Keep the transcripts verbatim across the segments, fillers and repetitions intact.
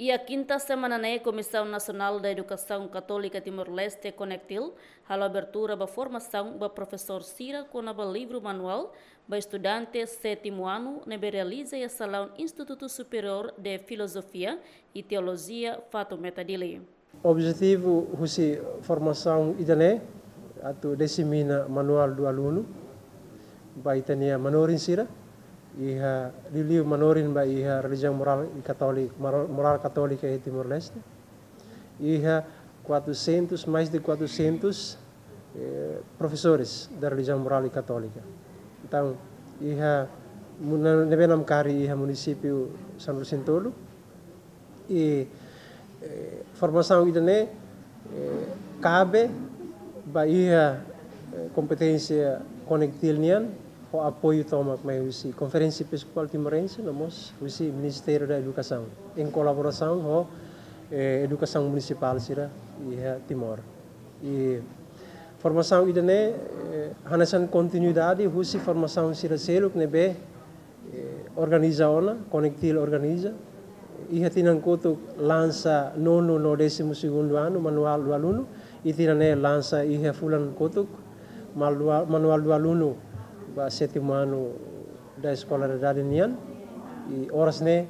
Iha kinta semana ne'e, Komisaun Nasionál da Edukasaun Katólika Timor-Leste, Konektil, halo abertura ba formasaun ba profesór sira kona-ba livru manuál ba estudante sétimu anu ne'ebé realiza iha salaun Institutu Superiór de Filozofia i Teolojia, Fatumeta, Dili. Objetivu husi formasaun ida-ne'e atu disemina manuál do aluno ba ita-nia manorin sira, iha liuliu manorin ba iha relijiaun morál i katólika, morál, morál katólika iha Timor-Leste. Iha quatrocentos, mais de quatrocentos, eh, professores da religião moral e católica. Entaun, iha mu-, na-, ne'ebé namkari iha munisípiu São Vicente tolu, i, eh, formasaun ida-ne'e, eh, kabe ba iha, eh, kompeténsia Konektil nian, ho apoiu tomak mai husi Konferénsia Episkopál Timorense, no mós husi Ministériu da Edukasaun, em kolaborasaun ho, eh, edukasaun munisipál sira iha Timor. I formasaun ida-ne'e, eh, hanesan kontinuidade husi formasaun sira seluk ne'ebé, eh, organiza ona, Konektil organiza. Iha tinan kotuk lansa nonu no décimo segundo ano, manuál do aluno, i tinan ne'e lansa iha fulan kotuk, malua-, manuál do aluno ba sétimu ano da eskolariedade nian, i oras ne'e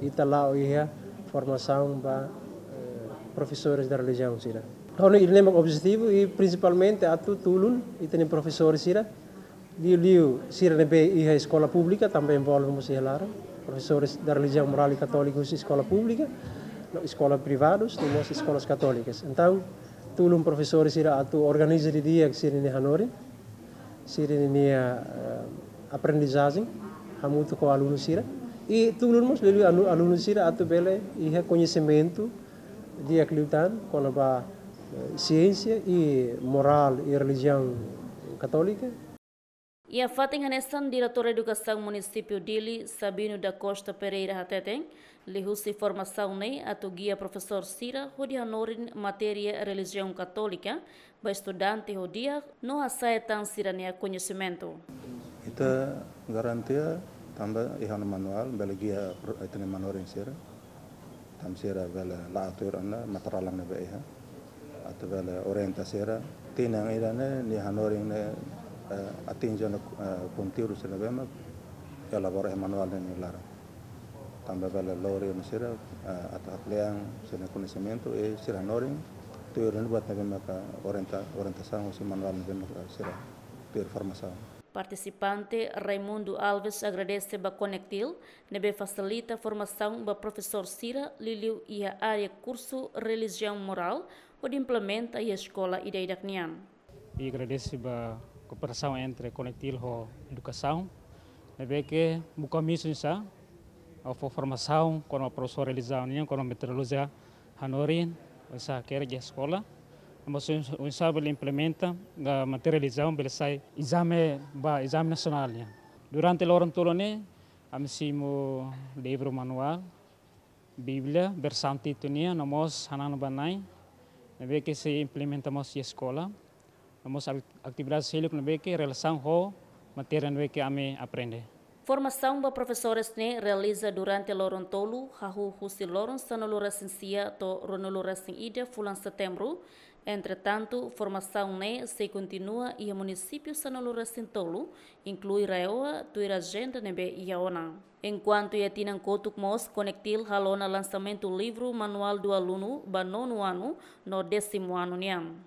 ita la'o iha formasaun ba, eh, profesores da religião sira. Ho ida-ne'e mak objetivu i prinsipalmente atu tulun ita-nia profesór sira, liuliu sira ne'ebé iha eskola públika, tanba envolve mós iha laran, profesores da religião moral e católica husi eskola públika, no eskola privadus, no mós eskolas katólikas. Entaun, tulun profesór sira atu organiza didi'ak sira-nia hanorin, sira-nia, eh, aprendizajen, hamutuk ho alunu sira. I tulun mós liuliu anu-, alunu sira atu bele iha koñesimentu di'ak liután kona-ba, eh, siénsia i morál i relijiaun katólika. Iha fatin hanesan, Diretór Edukasaun Munisípiu Dili, Sabino da Costa Pereira, hateten, liuhusi formasaun ne'e atu gia profesór sira hodi hanorin matéria relijiaun katólika ba estudante ho di'ak no hasa'e tan sira-nia koñesimentu. Ita garantia tanba iha ona manuál, bele gia pro-, ita-nia manorin sira. Tanba sira bele la'o tuir ona materiál ne'ebé iha. Atu bele orienta sira. Tinan ida-ne'e, nia hanorin ne'e, eh, atinje ona, eh, konteúdu sira ne'ebé mak elabora iha manuál ne'e nia laran. Tanba bele lori ona sira, eh, atu amplian sira-nia koñesimentu, i sira hanorin, tuir ona buat ne'ebé maka orienta-, orientasaun husi manuál ne'ebé maka sira tuir formasaun. Partisipante Raimundo Alves agradese ba Konektil, ne'ebé fasilita formasaun ba profesór sira liuliu iha área kursu relijiaun morál, hodi implementa iha eskola ida-idak nian. I agradese ba kooperasaun entre Konektil ho edukasaun, ne'ebé ke buka misaun sira, fó formasaun kona-ba profesór relijiaun nian, kona-ba metodolojia hanorin, oinsá hakerek iha eskola, no mós oinsá bele implementa, ah, matéria relijiaun bele sai ezame ba ezame nasionál nian. Durante loron tolu ne'e, ami simu livru manuál, Bíblia, versaun Titu nian, no mós hananu ba na'in, ne'ebé ke sei implementa mós iha eskola, no mós ak-, atividade seluk ne'ebé ke relasaun ho matéria ne'ebé ke ami aprende. Formasaun ba profesores ne'e realiza durante loron tolu, hahú husi loron sanulu-resin-sia to'o ruanulu-resin-ida fulan Setembru. Entretantu, formasaun ne'e sei kontinua iha munisípiu sanulu-resin-tolu, inklui RAEOA, tuir ajenda ne'ebé iha ona. Enkuantu iha tinan kotuk mós, Konektil halo ona lansamentu livru manuál do aluno ba nonu anu no décimo anu nian.